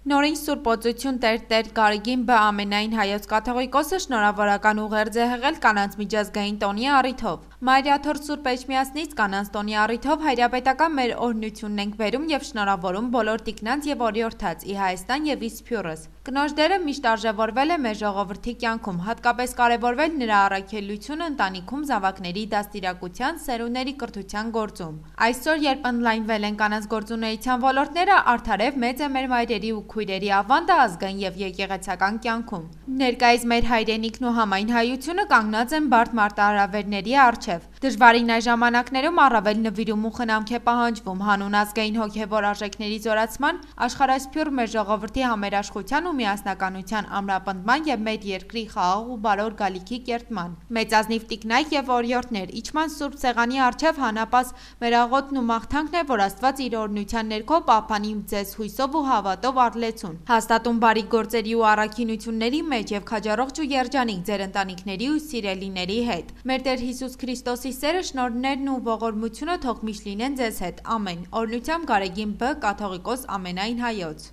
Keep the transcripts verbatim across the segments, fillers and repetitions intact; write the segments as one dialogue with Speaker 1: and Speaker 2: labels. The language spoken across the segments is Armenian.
Speaker 1: Նորին Սուրբ Օծություն Տեր Տեր Գարեգին Բ. ամենայն հայոց կաթողիկոսը շնորհավորական ուղերձ է հղել կանանց միջազգային տոնի առիթով։ Մայրաթորթ Սուրբ Էջմիածնից կանանց տոնի առիթով հայրապետական մեր օրհնությունն ենք բերում եւ շնորհավորում բոլոր տիկնանց եւ օրիորդաց ի Հայաստան եւ ի Սփյուռս։ Կնոջ դերը միշտ արժեվորվել է մեր ժողովրդի կյանքում, հատկապես կարևորվել նրա առաքելությունը ընտանիքում զավակների դաստիարակության, սերունդների կրթության գործում։ Այսօր, երբ ընդլայնվել են կանանց գործունեության ոլորտները, արդարև մեծ է մեր մայրերի ու քույրերի ավանդը ազգային եւ եկեղեցական կյանքում։ Ներկայիս մեր հայրենիքն ու համայն հայությունը կանգնած են բարդ մարտահրավերների առջև։ Դժվարին այս ժամանակներում առավել նվիրում ու խնամք է պահանջվում հանուն ազգային հոգեվոր արժեքների զորացման, աշխարհասփյուռ մեր ժողովրդի համերաշխության ու միասնականության ամրապնդման եւ մեր երկրի խաղաղ ու բարոր գալիքի կերտման։ Մեծազնիվ տիկնայք եւ օրիորդներ, իջման Սուրբ Սեղանի առջև հանապաս մեր աղոթն ու մաղթանքն է, որ Աստված իր օրհնության ներքո պահպանի ձեզ հույսով ու հավատով առլեցուն, հաստատում բարի գործերի ու առաքինությունների մեջ եւ քաջառողջ ու երջանիկ ձեր ընտանիքների ու սիրելիների հետ։ Մեր Տեր Հիսուս Քրիստոսի սերը, շնորհներն ու ողորմությունը թող միշտ լինեն ձեզ հետ։ Ամեն։ Օրհնությամբ Գարեգին Բ. կաթողիկոս ամենայն հայոց։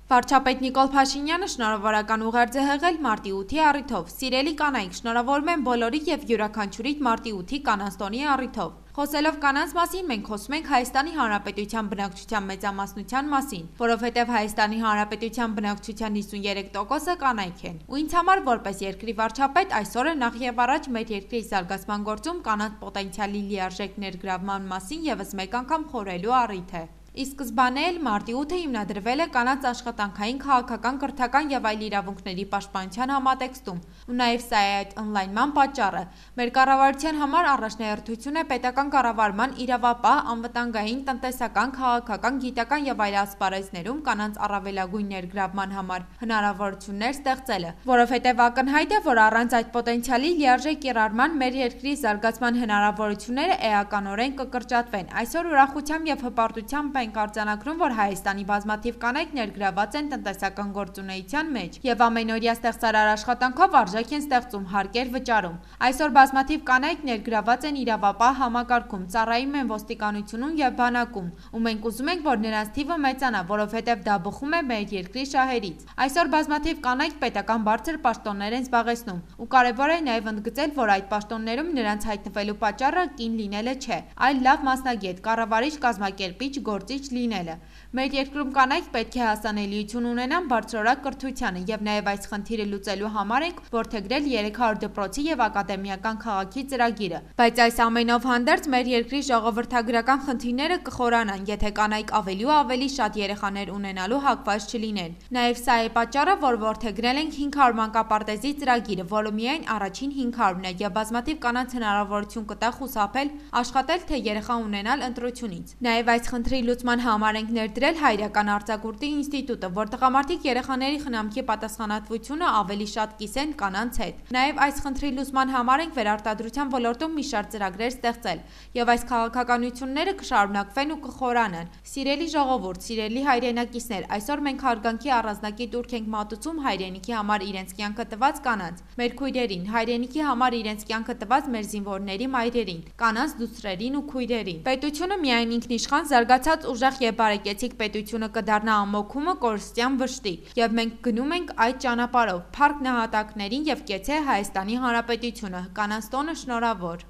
Speaker 1: Վարչապետ Նիկոլ Փաշինյանը շնորհավորական ուղերձ է հղել մարտի ութի առիթով։ Սիրելի կանայք, շնորհավորում եմ բոլորի եւ յուրաքանչյուրիդ մարտի ութի կանանց տոնի առիթով։ Խոսելով կանանց մասին, մենք խոսում ենք Հայաստանի Հանրապետության բնակչության մեծամասնության մասին, որովհետև Հայաստանի Հանրապետության բնակչության հիսուններեք տոկոսը կանայք են։ Ու ինձ համար որպես երկրի վարչապետ այսօրը նախ եւ առաջ մեր երկրի զարգացման գործում կանանց պոտենցիալի լիարժեք ներգրավման մասին եւս մեկ անգամ խորհելու առիթ է։ Ի սկզբանե էլ մարտի ութը հիմնադրվել է կանանց աշխատանքային, քաղաքական, կրթական եւ այլ իրավունքների պաշտպանության համատեքստում, ու նաեւ սա է այդ ընդլայնման պատճառը։ Մեր կառավարության համար առաջնահերթություն է պետական կառավարման իրավապահ, անվտանգային, տնտեսական, քաղաքական, գիտական եւ այլ ասպարեզներում կանանց առավելագույն ներգրավման համար հնարավորություններ ստեղծելը, որովհետեւ ակնհայտ է, որ առանց այդ պոտենցիալի լիարժեք կիրառման մեր երկրի զարգացման հնարավորությունները էականորեն կկրճատվեն։ Այսօր ուրախությամբ եւ հպարտությամբ ենք արձանագրում, որ Հայաստանի բազմաթիվ կանայք ներգրաված են տնտեսական գործունեության մեջ եւ ամենօրյա ստեղծարար աշխատանքով արժեք են ստեղծում, հարկեր վճարում։ Այսօր բազմաթիվ կանայք ներգրաված են իրավապահ համակարգում, ծառայում են ոստիկանությունում եւ բանակում, ու մենք ուզում ենք, որ նրանց թիվը մեծանա, որովհետեւ դա բխում է մեր երկրի շահերից։ Այսօր բազմաթիվ կանայք պետական բարձր պաշտոններ են զբաղեցնում, ու կարեւոր է նաեւ ընդգծել, որ այդ պաշտոններում նրանց հայտնվելու պատճառը կին լինելը չէ, այլ լավ մասնագետ, կառավարիչ, կազմակերպիչ, գործիչ լինելը։ Մեր երկրում կանայք պետք է հասանելիություն ունենան բարձրորակ կրթությանը եւ նաեւ այս խնդիրը լուծելու համար ենք որդեգրել երեք հարյուր դպրոցի եւ ակադեմիական քաղաքի ծրագիրը։ Բայց այս ամենով հանդերձ մեր երկրի ժողովրդագրական խնդիրները կխորանան, եթե կանայք ավելի ու ավելի շատ երեխաներ ունենալու հակված չլինեն։ Նաեւ սա է պատճառը, որ որդեգրել ենք հինգ հարյուր մանկապարտեզի ծրագիրը, որը միայն առաջին հինգ հարյուրն է եւ բազմաթիվ կանանց հնարավորություն կտա խուսափել աշխատել թե երեխա ունենալ ընտրությունից։ Նաեւ այս խնդրի լուծման համար ենք ներդրել Հայրական արձակուրդի ինստիտուտը, որ տղամարդիկ երեխաների խնամքի պատասխանատվությունը ավելի շատ կիսեն կանանց հետ։ Նաև այս խնդրի լուծման համար ենք վերարտադրության ոլորտում մի շարք ծրագրեր ստեղծել, եւ այս քաղաքականությունները կշարունակվեն ու կխորանան։ Սիրելի ժողովուրդ, սիրելի հայրենակիցներ, այսօր մենք հարգանքի առանձնակի տուրք ենք մատուցում հայրենիքի համար իրենց կյանքը տված կանանց, մեր քույրերին, հայրենիքի համար իրենց կյանքը տված մեր զինվորների մայրերին, կանանց դուստրերին ու քույրերին։ Պետությունը միայն ինքնիշխան զարգացած ուժեղ եւ բարեկեցիկ պետությունը կդառնա ամոքումը կորստյան վշտի, եւ մենք գնում ենք այդ ճանապարհով, փառք նահատակներին եւ կեցե Հայաստանի Հանրապետությունը։ Կանանց տոնը շնորհավոր։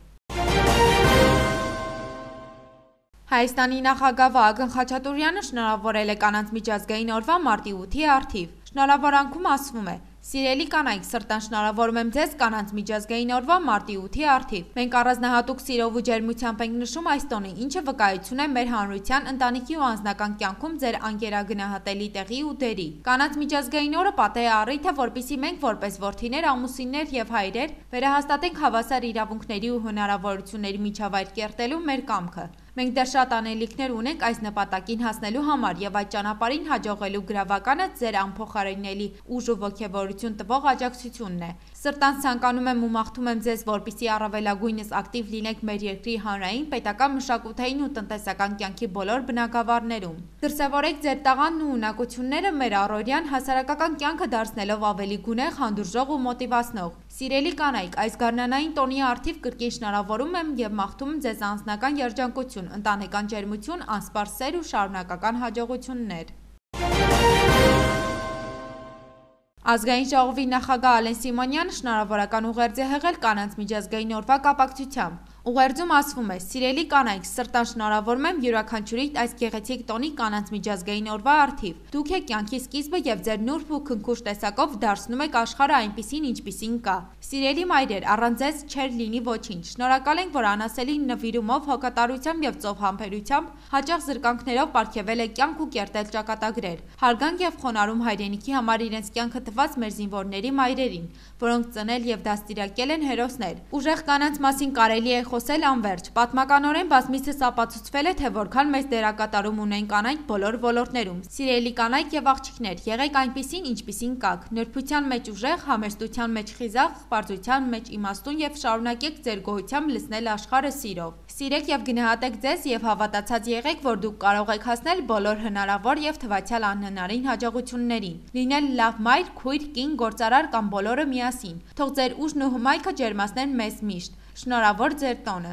Speaker 1: Հայաստանի նախագահ Վահագն Խաչատուրյանը շնորհավորել է կանանց միջազգային օրվա մարտի ութի առթիվ։ Շնորհավորանքում ասվում է. Սիրելի կանայք, սրտան շնորհավորում եմ ձեզ կանանց միջազգային օրվա մարտի ութի առթիվ։ Մենք առանձնահատուկ սիրով ու ջերմությամբ ենք նշում այս տոնը, ինչը վկայություն է մեր հանրության, ընտանիքի ու անձնական կյանքում ձեր անկերագնահատելի տեղի ու դերի։ Կանանց միջազգային օրը պատեհ է առիթ է, որպեսզի մենք որպես որդիներ, ամուսիններ եւ հայրեր վերահաստատենք հավասար իրավունքների ու հնարավորությունների միջավայր կերտելու մեր կամքը։ Մենք դեռ շատ անելիքներ ունենք այս նպատակին հասնելու համար եւ այդ ճանապարհին հաջողելու գրավականը ձեր անփոխարինելի ուժ ու ոգևորություն տվող աջակցությունն է։ Սրտանց ցանկանում եմ ու մաղթում եմ ձեզ, որպեսզի առավելագույնս ակտիվ լինեք մեր երկրի հանրային, պետական, մշակութային ու տնտեսական կյանքի բոլոր բնագավառներում։ Դրսևորեք ձեր տաղանն ու ունակությունները մեր առօրյան հասարակական կյանքը դարձնելով ավելի գունեղ, հանդուրժող ու մոտիվացնող։ Սիրելի կանայք, այս գարնանային տոնի առթիվ կրկին շնորհավորում եմ եւ մաղթում ձեզ անձնական երջանկություն ուրախություն, ընտանեկան ջերմություն, անսպառ սեր ու շարունակական հաջողություններ։ Ազգային ժողովի նախագահ Ալեն Սիմոնյանը շնորհավորական ուղերձ է հղել կանանց միջազգային օրվա կապակցությամբ։ Ուղերձում ասվում է. «Սիրելի կանայք, սրտան շնորհավորում եմ յուրաքանչյուրիդ այս գեղեցիկ տոնի կանանց միջազգային օրվա առթիվ։ Դուք եք կյանքի սկիզբը եւ ձեր նուրբ ու քնքուշ տեսակով դարձնում եք աշխարհը այնպիսին, ինչպիսին կա։ Սիրելի մայրեր, առանց ձեզ չէր լինի ոչինչ։ Շնորհակալ ենք, որ անասելի նվիրումով, հոգատարությամբ եւ ծով համբերությամբ, հաճախ զրկանքներով պարգեւել եք կյանք ու կերտել ճակատագրեր։ Հարգանք եւ խոնարհում հայրենիքի համար իրենց կյանքը տված մեր զինվորների մայրերին, որոնք ծնել եւ դաստիարակել են հերոսներ։ Ուժեղ կանանց մասին կարելի է խոսել անվերջ։ Պատմականորեն բազմիցս ապացուցվել է, թե որքան մեծ դերակատարում ունեն կանայք բոլոր ոլորտներում։ Սիրելի կանայք եւ աղջիկներ, եղեք այնպիսին, ինչպիսին կաք։ Նրբության մեջ ուժեղ, համեստության մեջ խիզախ, պարզության մեջ իմաստուն եւ շարունակեք ձեր գոհությամբ լցնել աշխարհը սիրով։ Սիրեք եւ գնահատեք ձեզ եւ հավատացած եղեք, որ դուք կարող եք հասնել բոլոր հնարավոր եւ թվացյալ անհնարին հաջողություններին։ Լինել լավ մայր, քույր, կին, գործարար կամ բոլորը միասին։ Թող ձեր ուժն ու հմայքը ջերմացնեն մեզ միշտ։ Շնորհավոր ձեր տոնը։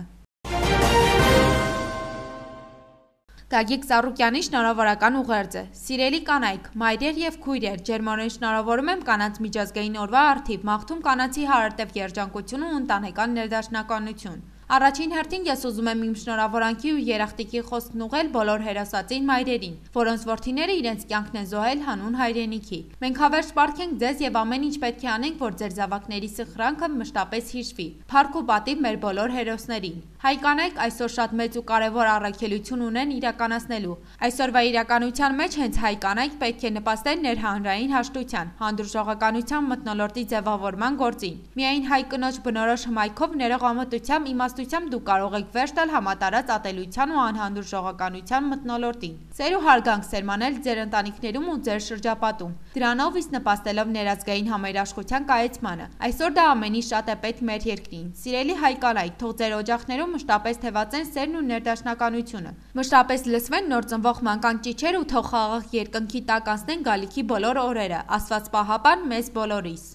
Speaker 1: Գագիկ Ծառուկյանի շնորհավորական ուղերձը։ Սիրելի կանայք, մայրեր եւ քույրեր, ջերմորեն շնորհավորում եմ կանանց միջազգային օրվա առթիվ, մաղթում կանանցի հարատև երջանկություն ու ընտանեկան ներդաշնակությունություն։ Առաջին հերթին ես ուզում եմ իմ շնորհավորանքի ու երախտիկի խոսքն ուղղել բոլոր հերոսածին մայրերին, որոնց որդիները իրենց կյանքն են զոհել հանուն հայրենիքի։ Մենք հավերժ պարգենք ձեզ եւ ամեն ինչ պետք է անենք, որ ձեր զավակների սխրանքը մշտապես հիշվի։ Փառք ու պատիվ մեր բոլոր հերոսներին։ Հայ կանայք այսօր շատ մեծ ու կարևոր առաքելություն ունեն իրականացնելու։ Այսօրվա իրականության մեջ հենց հայ կանայք պետք է նպաստեն ներհանրային հաշտության, հանդուրժողականության մթնոլորտի ձևավորման գործին։ Միայն հայ կնոջ բնորոշ հմայքով, ներողամտությամբ, իմաստությամբ դուք կարող եք վերջ տալ համատարած ատելության ու անհանդուրժողականության մթնոլորտին։ Սեր ու հարգանք սերմանել ձեր ընտանիքներում ու ձեր շրջապատում։ Դրանով իսկ նպաստելով ներազգային համերաշխության կայացմանը։ Այսօր դա ամենից շատ է պետք մեր երկրին։ Սիրելի հայ կանայք, թող ձեր օջախներում մշտապես թևածեն սերն ու ներդաշնակությունը։ Մշտապես լսվեն նոր ծնվող մանկան ճիչեր ու թող խաղաղ երկնքի տակ անցնեն գալիքի բոլոր օրերը։ Աստված պահապան մեզ բոլորիս։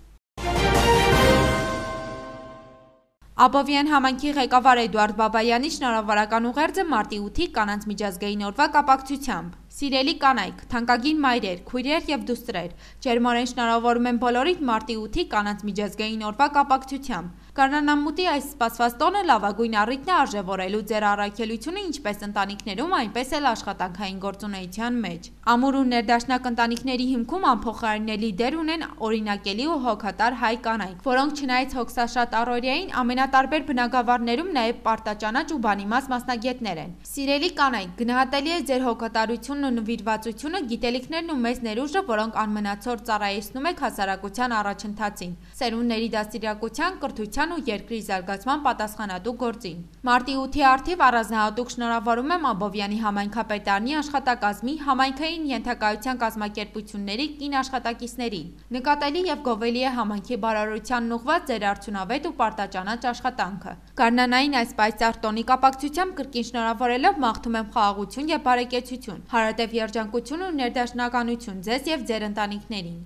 Speaker 1: Աբովյան համայնքի ղեկավար Էդուարդ Բաբայանի շնորհավորական ուղերձը մարտի ութի կանանց միջազգային օրվա կապակցությամբ։ Սիրելի կանայք, թանկագին մայրեր, քույրեր եւ դուստրեր, ջերմորեն շնորհավորում եմ բոլորիդ մարտի ութի կանանց միջազգային օրվա կապակցությամբ։ Գարնանամուտի այս սպասված տոնը լավագույն առիթն է արժևորելու ձեր առաքելությունը ինչպես ընտանիքներում, այնպես էլ աշխատանքային գործունեության մեջ։ Ամուր ու ներդաշնակ ընտանիքների հիմքում անփոխարինելի դեր ունեն օրինակելի ու հոգատար հայ կանայք, որոնք չնայած հոգսաշատ առօրյային ամենատարբեր բնագավառներում նաև պարտաճանաչ ու բանիմաց մասնագետներ են։ Սիրելի կանայք, գնահատելի է ձեր հոգատարությունն ու նվիրվածությունը, գիտելիքներն ու մեծ ներուժը, որոնք անմնացոր ծառայեցնում եք հասարակության առաջընթացին, սերունդների դաստիարակության, կրթության ու երկրի զարգացման պատասխանատու գործին։ Մարտի ութի առթիվ առանձնահատուկ շնորհավորում եմ Աբովյանի համայնքապետարանի աշխատակազմի, համայնքային ենթակայության կազմակերպությունների կին աշխատակիցներին։ Նկատելի եւ գովելի է համայնքի բարօրությանն ուղղված ձեր արդյունավետ ու պարտաճանաչ աշխատանքը։ Գարնանային այս պայծառ տոնի կապակցությամբ կրկին շնորհավորելով մաղթում եմ խաղաղություն եւ բարեկեցություն, հարատև երջանկություն ու ներդաշնակություն ձեզ եւ ձեր ընտանիքներին։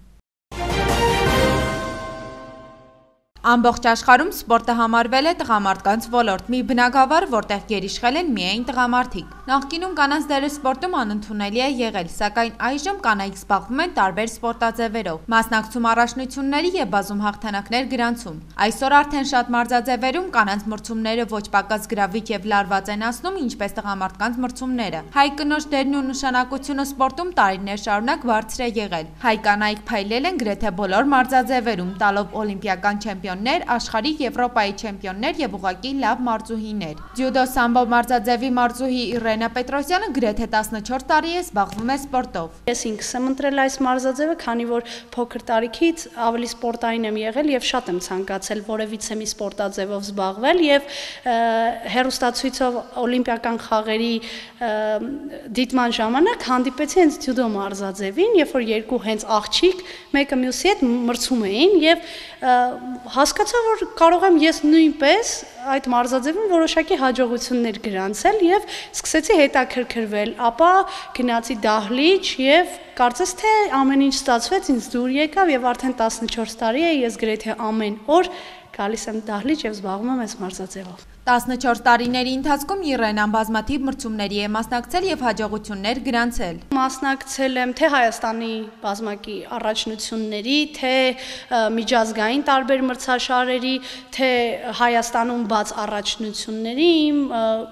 Speaker 1: Ամբողջ աշխարհում սպորտը համարվել է տղամարդկանց ոլորտ, մի բնագավառ, որտեղ գերիշխել են միայն տղամարդիկ։ Նախկինում կանանց դերը սպորտում անընդունելի է եղել, սակայն այժմ կանայք զբաղվում են տարբեր սպորտաձևերով, մասնակցում առաջնությունների եւ բազում հաղթանակներ գրանցում։ Այսօր արդեն շատ մարզաձևերում կանանց մրցումները ոչ պակաս գրավիչ եւ լարված են անցնում, ինչպես տղամարդկանց մրցումները։ Հայ կնոջ դերն ու նշանակությունը սպորտում տարիներ շարունակ բարձր է եղել։ Հայ կանայք փայլել են գրեթե բոլոր մարզաձևերում, տալով օլիմպիական չեմպիոն աշխարհի, Եվրոպայի չեմպիոններ եւ ուղղակի լավ մարզուհիներ։ Ձյուդո սամբո մարզաձևի մարզուհի Իրենա Պետրոսյանը գրեթե տասնչորս տարի է զբաղվում է սպորտով։
Speaker 2: Ես ինքս եմ ընտրել այս մարզաձևը, քանի որ փոքր տարիքից ավելի սպորտային եմ եղել եւ շատ եմ ցանկացել որևիցե մի սպորտաձևով զբաղվել եւ հերոստացույցով օլիմպիական խաղերի դիտման ժամանակ հանդիպեցի հենց ձյուդո մարզաձևին, երբ որ երկու հենց աղջիկ մեկը մյուսի հետ մրցում էին եւ հասկացա, որ կարող եմ ես նույնպես այդ մարզաձևում որոշակի հաջողություններ գրանցել եւ սկսեցի հետաքրքրվել, ապա գնացի դահլիճ եւ կարծես թե ամեն ինչ ստացվեց, ինձ դուր եկավ եւ արդեն տասնչորս տարի է ես գրեթե ամեն օր գալիս եմ դահլիճ եւ զբաղվում եմ այս մարզաձևով։
Speaker 1: տասնչորս տարիների ընթացքում Իրենան բազմաթիվ մրցումների է մասնակցել եւ հաջողություններ գրանցել։
Speaker 2: Մասնակցել եմ թե Հայաստանի բազմակի առաջնությունների, թե միջազգային տարբեր մրցաշարերի, թե Հայաստանում բաց առաջնությունների, իմ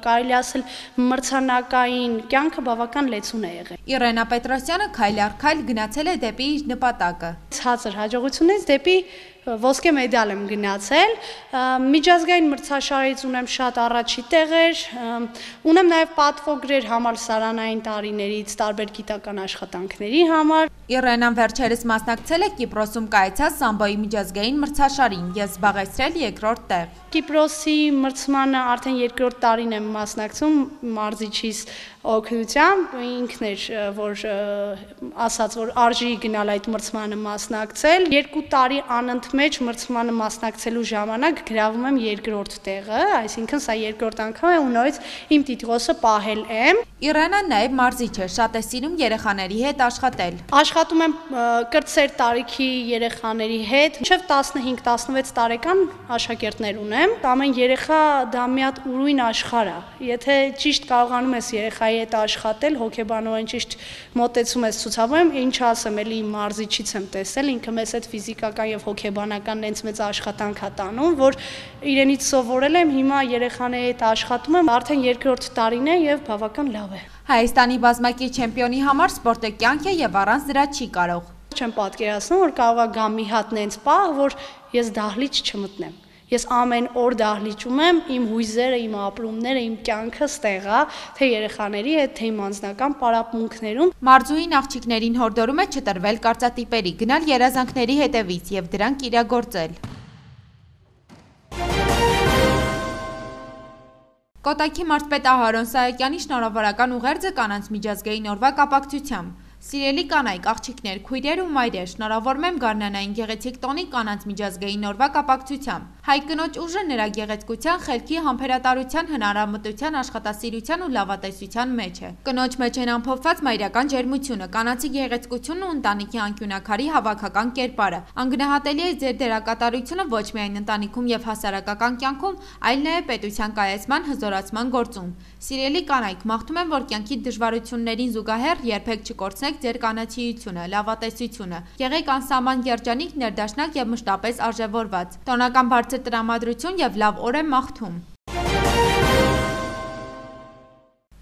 Speaker 2: կարելի ասել մրցանակային կյանքը բավական լեցուն է եղել։
Speaker 1: Իրենա Պետրոսյանը քայլ առ քայլ գնացել է դեպի իր նպատակը։
Speaker 2: Ցածր հաջողությունից դեպի ոսկե մեդալ եմ գնացել, միջազգային մրցաշարից ունեմ շատ առաջի տեղեր, ունեմ նաև պատվոգրեր համալսարանային տարիներից տարբեր գիտական աշխատանքների համար։
Speaker 1: Իրենան վերջերս մասնակցել է Կիպրոսում կայացած սամբոյի միջազգային մրցաշարին եւ զբաղեցրել երկրորդ տեղ։
Speaker 2: Կիպրոսի մրցմանը արդեն երկրորդ տարին եմ մասնակցում մարզիչիս օգնությամբ, ինքն էր որ ասաց որ արժի գնալ այդ մրցմանը մասնակցել, երկու տարի անընդմեջ մրցմանը մասնակցելու ժամանակ գրավում եմ երկրորդ տեղը, այսինքն սա երկրորդ անգամ է ու նորից իմ տիտղոսը պահել եմ։
Speaker 1: Իրենան նաև մարզիչ է, շատ է սիրում երեխաների հետ աշխատել։
Speaker 2: Աշխատում եմ կրտսեր տարիքի երեխաների հետ, մինչև տասնհինգ տասնվեց տարեկան աշակերտներ ունեմ։ Ամեն երեխա դա մի հատ ուրույն աշխարհ է։ Եթե ճիշտ կարողանում ես երեխայի հետ աշխատել, հոգեբանորեն ճիշտ մոտեցում ես ցուցաբերում, ինչ ասեմ, էլի մարզիչից եմ տեսել, ինքը մեզ այդ ֆիզիկական եւ հոգեբանական նենց մեծ աշխատանք է տանում, որ իրենից սովորել եմ, հիմա երեխաների հետ աշխատում եմ, արդեն երկրորդ տարին է եւ բավական լավ է։
Speaker 1: Հայաստանի բազմակի չեմպիոնի համար սպորտը կյանք է եւ առանց դրա չի կարող։
Speaker 2: Չեմ պատկերացնում, որ կարող է գա մի հատ նենց պահ, որ ես դահլիճ չմտնեմ։ Ես ամեն օր դահլիճում եմ, իմ հույզերը, իմ ապրումները, իմ կյանքը ստեղ է, թե երեխաների հետ, թե իմ անձնական պարապմունքներում։
Speaker 1: Մարզուհին աղջիկներին հորդորում է չտրվել կարծատիպերի, գնալ երազանքների հետևից եւ դրանք իրագործել։ Կոտայքի մարզպետ Ահարոն Սահակյանի շնորհավորական ուղերձը կանանց միջազգային օրվա կապակցությամբ։ Սիրելի կանայք, աղջիկներ, քույրեր ու մայրեր, շնորհավորում եմ Գարնանային գեղեցիկ տոնի կանանց միջազգային օրվա կապակցությամբ։ Հայ կնոջ ուժը նրա գեղեցկության, խելքի, համբերատարության, հնարամտության, աշխատասիրության ու լավատեսության մեջ է։ Կնոջ մեջ են ամփոփված մայրական ջերմությունը, կանացի գեղեցկությունն ու ընտանիքի անկյունաքարի հավաքական կերպարը։ Անգնահատելի է ձեր դերակատարությունը ոչ միայն ընտանիքում եւ հասարակական կյանքում, այլ նաեւ պետության կայացման, հզորացման գործում։ Սիրելի կանայք, մաղթում եմ, որ կյանքի դժվարություններին զուգահեռ երբեք չկորցնեք ձեր կանացիությունը, լավատեսությունը։ Եղեք անսահման երջանիկ, ներդաշնակ եւ մշտապես արժեվորված։ Տոնական բարձր տրամադրություն եւ լավ օր եմ մաղթում։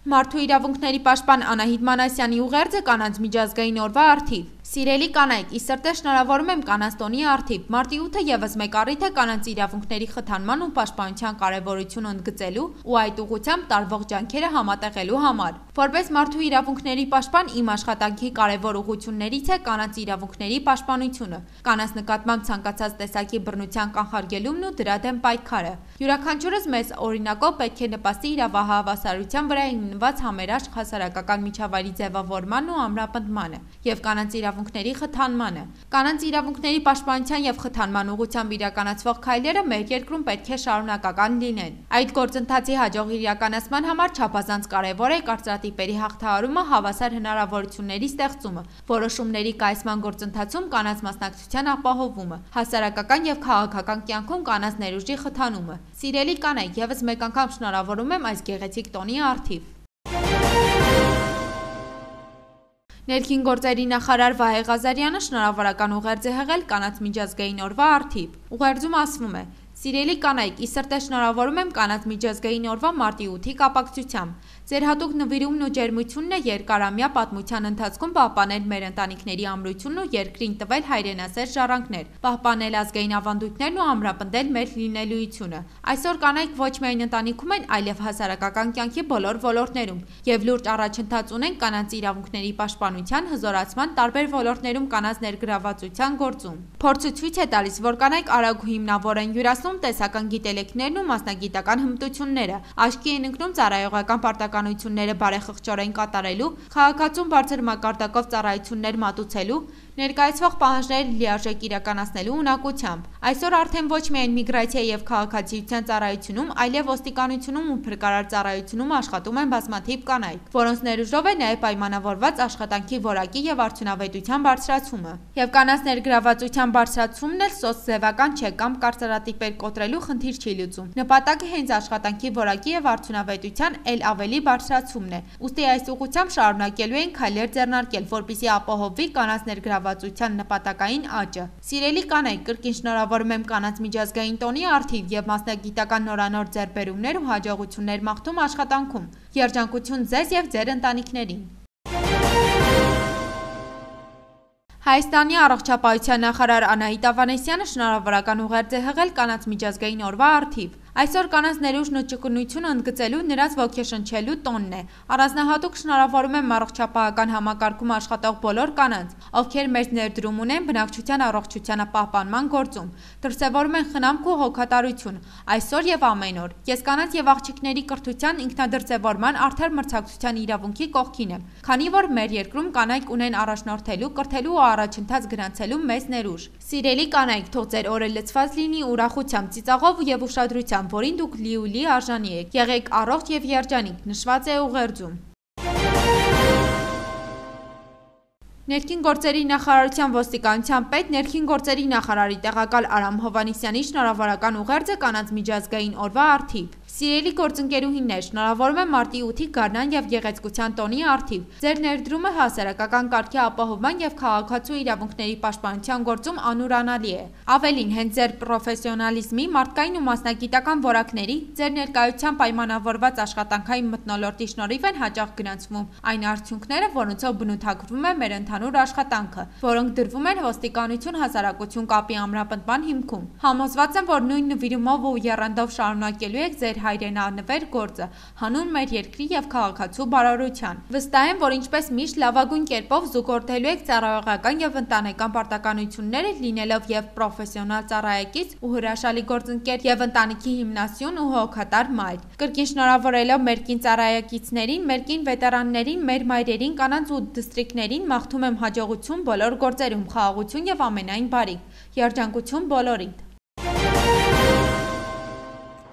Speaker 1: Մարդու իրավունքների պաշտպան Անահիտ Մանասյանի ուղերձը կանանց միջազգային օրվա առթիվ։ Սիրելի կանայք, ի սրտե շնորհավորում եմ կանանց տոնի առթիվ։ Մարտի ութը եւս մեկ առիթ է կանանց իրավունքների խթանման ու պաշտպանության կարեւորությունը ընդգծելու ու այդ ուղղությամբ տարվող ջանքերը համատեղելու համար։ Որպես մարդու իրավունքների պաշտպան իմ աշխատանքի կարեւոր ուղղություններից է կանանց իրավունքների պաշտպանությունը, կանանց նկատմամբ ցանկացած տեսակի բռնության կանխարգելումն ու դրա դեմ պայքարը։ Յուրաքանչյուրս մեզ օրինակով պետք է նպաստի իրավահավասարության վրա հիմնված համերաշխ հասարակական միջավայրի ձևավորման ու ամրապնդմանը եւ կանանց իրավունքների խթանմանը։ Կանանց իրավունքների պաշտպանության եւ խթանման ուղղությամբ իրականացվող քայլերը մեր երկրում պետք է շարունակական լինեն։ Այդ գործընթացի հաջող իրականացման համար չափազանց կարեւոր է կարծրատիպերի հաղթահարումը, հավասար հնարավորությունների ստեղծումը, որոշումների կայացման գործընթացում կանանց մասնակցության ապահովումը, հասարակական եւ քաղաքական կյանքում կանանց ներուժի խթանումը։ Սիրելի կանայք, եւս մեկ անգամ շնորհավորում եմ այս գեղեցիկ տոնի առթիվ։ Ներքին գործերի նախարար Վահե Ղազարյանը շնորհավորական ուղերձ է հղել կանանց միջազգային օրվա առթիվ։ Ուղերձում ասվում է. Սիրելի կանայք, ի սրտե շնորհավորում եմ կանանց միջազգային օրվա մարտի ութի կապակցությամբ։ Ձեր հատուկ նվիրումն ու ջերմությունն է երկարամյա պատմության ընթացքում պահպանել մեր ընտանիքների ամրությունն ու երկրին տվել հայրենասեր ժառանգներ, պահպանել ազգային ավանդույթներն ու ամրապնդել մեր լինելույթությունը։ Այսօր կանայք ոչ միայն ընտանիքում են, այլև հասարակական կյանքի բոլոր ոլորտներում եւ լուրջ առաջընթաց ունեն կանանց իրավունքների պաշտպանության, հզորացման տարբեր ոլորտներում կանանց ներգրավվածության գործում։ Փորձը ցույց է տալիս, որ կանայք արագ ու հիմնավոր են յուրացնում տեսական գիտելիքներն ու մասնագիտական հմտությունները, աչքի են ընկնում ծառայողական պարտականությունները բարեխղճորեն կատարելու, քաղաքացուն բարձր մակարդակով ծառայություններ մատուցելու, ներկայացվող պահանջները լիարժեք իրականացնելու ունակությամբ։ Այսօր արդեն ոչ միայն միգրացիա եւ քաղաքացիության ծառայությունում, այլև ոստիկանությունում ու փրկարար ծառայությունում աշխատում են բազմաթիվ կանայք, որոնց ներուժով է նաեւ պայմանավորված աշխատանքի որակի եւ արդյունավետության բարձրացումը։ Եվ կանանց ներգրավվածության բարձրացումն էլ սոցձևական չէ կամ կարծրատիպեր կոտրելու խնդիր չի լուծում։ Նպատակը հենց աշխատանքի որակի եւ արդյունավետության ել ավելի բարձրացումն է։ Ուստի այս ուղղությամբ շարունակելու են քայլեր ձեռնարկել, որպեսզի ապահովվի կանանց ներգրավվածության նպատակային աճը։ Սիրելի կանայք, կրկին շնորհավորում եմ կանանց միջազգային տոնի առթիվ եւ մասնագիտական նորանոր ձեռքբերումներ ու հաջողություններ մաղթում աշխատանքում։ Երջանկություն ձեզ եւ ձեր ընտանիքներին։ Հայաստանի առողջապահության նախարար Անահիտ Ավանեսյանը շնորհավորական ուղերձ է հղել կանանց միջազգային օրվա առթիվ։ Այսօր կանանց ներուժն ու ճկունությունը ընդգծելու նրանց ոգեշնչելու տոնն է։ Առանձնահատուկ շնորհավորում եմ առողջապահական համակարգում աշխատող բոլոր կանանց, ովքեր մեծ ներդրում ունեն բնակչության առողջությանը պահպանման գործում, դրսևորում են խնամք ու հոգատարություն այսօր եւ ամեն օր։ Ես կանանց եւ աղջիկների կրթության, ինքնադրձևորման, արդար մրցակցության իրավունքի կողքին եմ, քանի որ մեր երկրում կանայք ունեն առաջնորդելու, կրթելու ու առաջընթաց գրանցելու մեծ ներուժ։ Սիրելի կանայք, թող ձեր օրը լցված լինի ուրախությամբ, ծիծաղով եւ ուշադրությամբ, որին դուք լիուլի արժանի եք։ Եղեք առողջ եւ երջանիկ, նշված է ուղերձում։ Ներքին գործերի նախարարության ոստիկանության պետ ներքին գործերի նախարարի տեղակալ Արամ Հովհաննիսյանի շնորհավորական ուղերձը կանանց միջազգային օրվա առթիվ։ Սիրելի գործընկերուհիներ, շնորհավորում եմ մարտի ութի գարնան եւ գեղեցկության տոնի առթիվ։ Ձեր ներդրումը հասարակական կարգի ապահովման եւ քաղաքացու իրավունքների պաշտպանության գործում անուրանալի է։ Ավելին, հենց ձեր պրոֆեսիոնալիզմի, մարդկային ու մասնագիտական որակների, ձեր ներկայության պայմանավորված աշխատանքային մթնոլորտի շնորհիվ են հաճախ գրանցվում այն արդյունքները, որոնցով բնութագրվում է մեր ընդհանուր աշխատանքը, որոնք դրվում են ոստիկանություն հասարակություն կապի ամրապնդման հիմքում։ Համոզված եմ, որ նույն նվիրումով ու եռանդով շարունակելու եք ձեր հայրենանվեր գործը հանուն մեր երկրի եւ քաղաքացու բարօրության։ Վստահ եմ, որ ինչպես միշտ լավագույն կերպով զուգորդելու եք ծառայողական եւ ընտանեկան պարտականությունները, լինելով եւ պրոֆեսիոնալ ծառայեկից ու հրաշալի գործընկեր եւ ընտանիքի հիմնասյուն ու հոգատար մայր։ Կրկին շնորհավորելով մեր կին ծառայեկիցներին, մեր կին վետերաններին, մեր մայրերին, կանանց ու դիստրիկտներին մաղթում եմ հաջողություն բոլոր գործերում, խաղաղություն եւ ամենայն բարիք։ Երջանկություն բոլորիդ։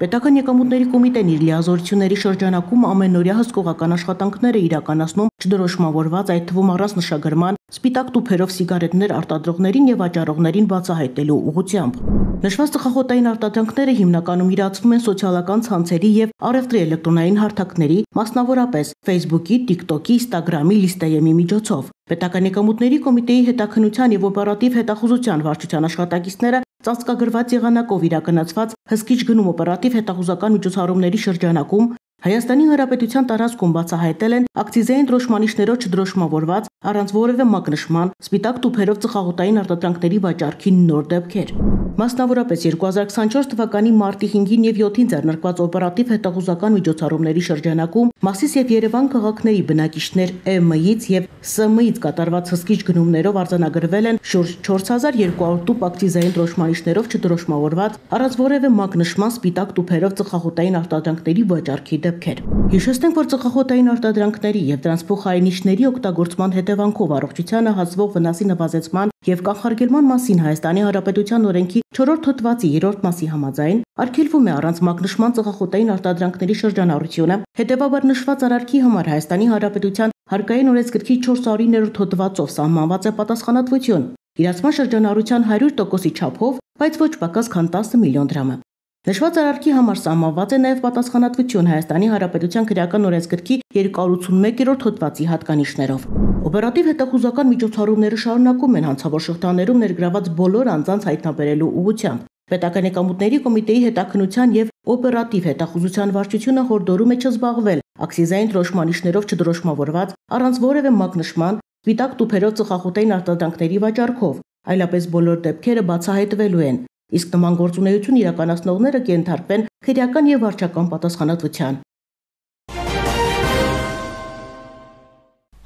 Speaker 3: Պետական եկամուտների կոմիտեն իր լիազորությունների շրջանակում ամենօրյա հսկողական աշխատանքներ է իրականացնում չդրոշմավորված, այդ թվում առանց նշագրման, սպիտակ տուփերով սիգարետներ արտադրողներին եւ վաճառողներին բացահայտելու ուղղությամբ։ Նշված ծխախոտային արտադրանքները հիմնականում իրացվում են սոցիալական ցանցերի եւ առևտրի էլեկտրոնային հարթակների, մասնավորապես Facebook-ի, TikTok-ի, Instagram-ի, Listayem-ի միջոցով։ Պետական եկամուտների կոմիտեի հետաքննության եւ օպերատիվ հետախուզության վարչության աշխատակիցները ծածկագրված եղանակով իրականացված հսկիչ գնում օպերատիվ հետախուզական միջոցառումների շրջանակում Հայաստանի Հանրապետության տարածքում բացահայտել են ակցիզային դրոշմանիշներով չդրոշմավորված, առանց որևէ մակնշման, սպիտակ տուփերով ծխախոտային արտադրանքների վաճառքի նոր դեպքեր։ Մասնավորապես երկու հազար քսանչորս թվականի մարտի հինգին եւ յոթին ձեռնարկված օպերատիվ հետախուզական միջոցառումների շրջանակում Մասիս եւ Երևան քաղաքների բնակիչներ Է Մ-ից եւ С Մ-ից կատարված հսկիչ գնումներով արձանագրվել են շուրջ չորս հազար երկու հարյուր տուփ ակցիզային դրոշմանիշներով չդրոշմավորված, առանց որևէ մակնշման սպիտակ տուփերով ծխախոտային արտադրանքների վաճառքի դեպքեր։ Հիշեցնենք, որ ծխախոտային արտադրանքների եւ դրանց փոխարինիչների օգտագործման հետևանքով առողջությանը հասցվող վնասի նվազեցման եւ կանխարգելման մասին Հայաստանի Հանրապետության օրենքի չորրորդ հոդվածի երրորդ մասի համաձայն արգելվում է առանց մակնշման ծխախոտային արտադրանքների շրջանառությունը, հետեւաբար նշված արարքի համար Հայաստանի Հանրապետության հարկային օրենսգրքի չորսունիններորդ հոդվածով սահմանված է պատասխանատվություն իրացման շրջանառության հարյուր տոկոսի չափով, բայց ոչ պակաս քան տասը միլիոն դրամը։ Նշված արարքի համար սահմանված է նաև պատասխանատվություն Հայաստանի Հանրապետության քրեական օրենսգրքի երկու հարյուր ութանմեկերորդ հոդվածի հատկանիշներով։ Օպերատիվ հետախուզական միջոցառումները շարունակում են հանցավոր շղթաներում ներգրաված բոլոր անձանց հայտնաբերելու ուղղությամբ։ Պետական եկամուտների կոմիտեի հետաքննության եւ օպերատիվ հետախուզության վարչությունը հորդորում է չզբաղվել ակցիզային դրոշմանիշներով չդրոշմավորված, առանց որևէ մակնշման, սպիտակ տուփերով ծխախոտային արտադրանքների վաճառքով, այլապես բոլոր դեպքերը բացահայտվելու են, իսկ նման գործունեություն իրականացնողները կենթարկվեն քրեական եւ վարչական պատասխանատվության։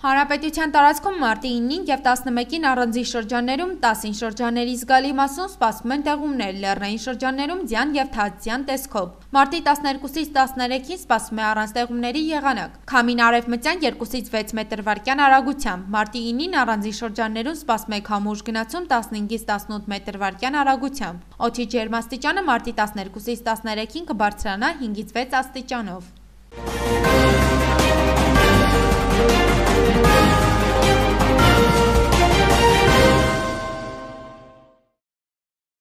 Speaker 1: Հանրապետության տարածքում մարտի ինին և տասնմեկին առանձին շրջաններում, տասին շրջանների զգալի մասում սպասվում են տեղումներ, լեռնային շրջաններում ձյան և թաց ձյան տեսքով։ Մարտի տասներկուսից տասներեքին սպասվում է առանց տեղումների եղանակ։ Քամին արևմտյան երկուսից վեց մետր վարկյան արագությամբ։ Մարտի ինին առանձին շրջաններում սպասվում է քամու ուժգնացում տասնհինգից տասնութ մետր վարկյան արագությամբ։ Օդի ջերմաստիճանը մարտի տասներկուսից տասներեքին կբարձրանա հինգից վեց աստիճանով։